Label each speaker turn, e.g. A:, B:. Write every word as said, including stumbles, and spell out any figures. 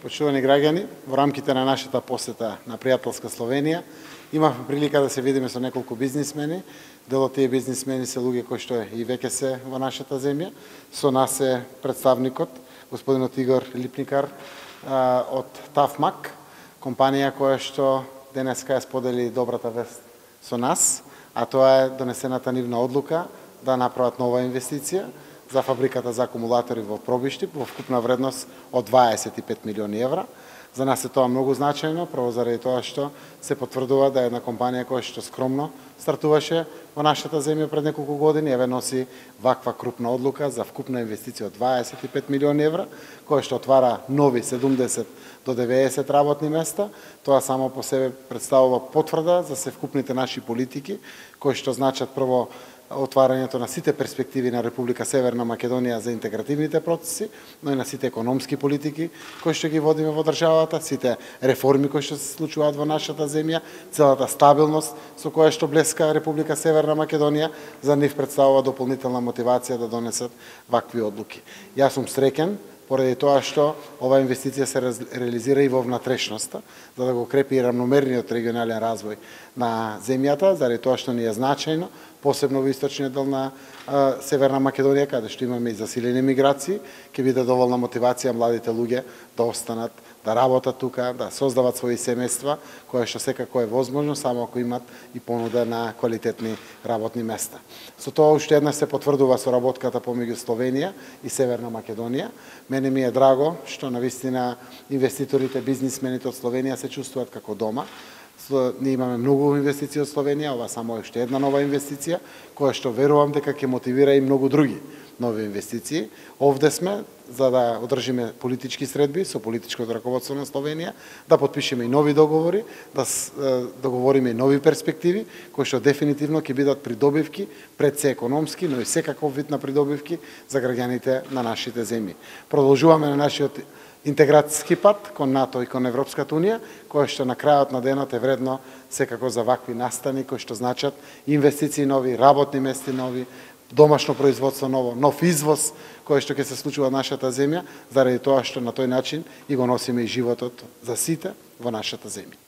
A: Почитувани граѓани, во рамките на нашата посета на пријателска Словенија, имавме прилика да се видиме со неколку бизнисмени. Дел од тие бизнисмени се луѓе кои што и веќе се во нашата земја. Со нас е представникот, господинот Игор Липникар од Тафмак, компанија која што денеска ја сподели добрата вест со нас, а тоа е донесената нивна одлука да направат нова инвестиција за фабриката за акумулатори во Пробишти во вкупна вредност од дваесет и пет милиони евра. За нас е тоа многу значајно, прво заради тоа што се потврдува да е една компанија која што скромно стартуваше во нашата земја пред неколку години, еве носи ваква крупна одлука за вкупна инвестиција од дваесет и пет милиони евра, која што отвара нови седумдесет до деветдесет работни места. Тоа само по себе представува потврда за севкупните наши политики, кои што значат прво отварањето на сите перспективи на Република Северна Македонија за интегративните процеси, но и на сите економски политики кои што ги водиме во државата, сите реформи кои што се случуваат во нашата земја, целата стабилност со која што блеска Република Северна Македонија, за нив представува дополнителна мотивација да донесат вакви одлуки. Јас сум среќен поради тоа што оваа инвестиција се реализира и во внатрешноста, за да го крепи и рамномерниот регионален развој на земјата, заради тоа што ни е значајно, посебно во источниот дел на а, Северна Македонија, каде што имаме и засилени миграции, ќе биде доволна мотивација младите луѓе да останат, да работат тука, да создават своји семејства, кое што секако е возможно, само ако имат и понуда на квалитетни работни места. Со тоа уште еднаш се потврдува соработката помеѓу Словенија и Северна Македонија. Мене ми е драго што навистина инвеститорите, бизнисмените од Словенија се чувствуваат како дома. Ние имаме многу инвестиции од Словенија, ова само е уште една нова инвестиција, која што верувам дека ќе мотивира и многу други нови инвестиции. Овде сме за да одржиме политички средби со политичкото раководство на Словенија, да потпишеме и нови договори, да договориме и нови перспективи, кои што дефинитивно ќе бидат придобивки пред се економски, но и секаков вид на придобивки за граѓаните на нашите земји. Продолжуваме на нашиот интеграцијски пат кон НАТО и кон Европската Унија, која што на крајот на денот е вредно секако за вакви настани кои што значат инвестиции нови, работни места нови, домашно производство ново, нов извоз кој што ќе се случува во нашата земја, заради тоа што на тој начин и го носиме и животот за сите во нашата земја.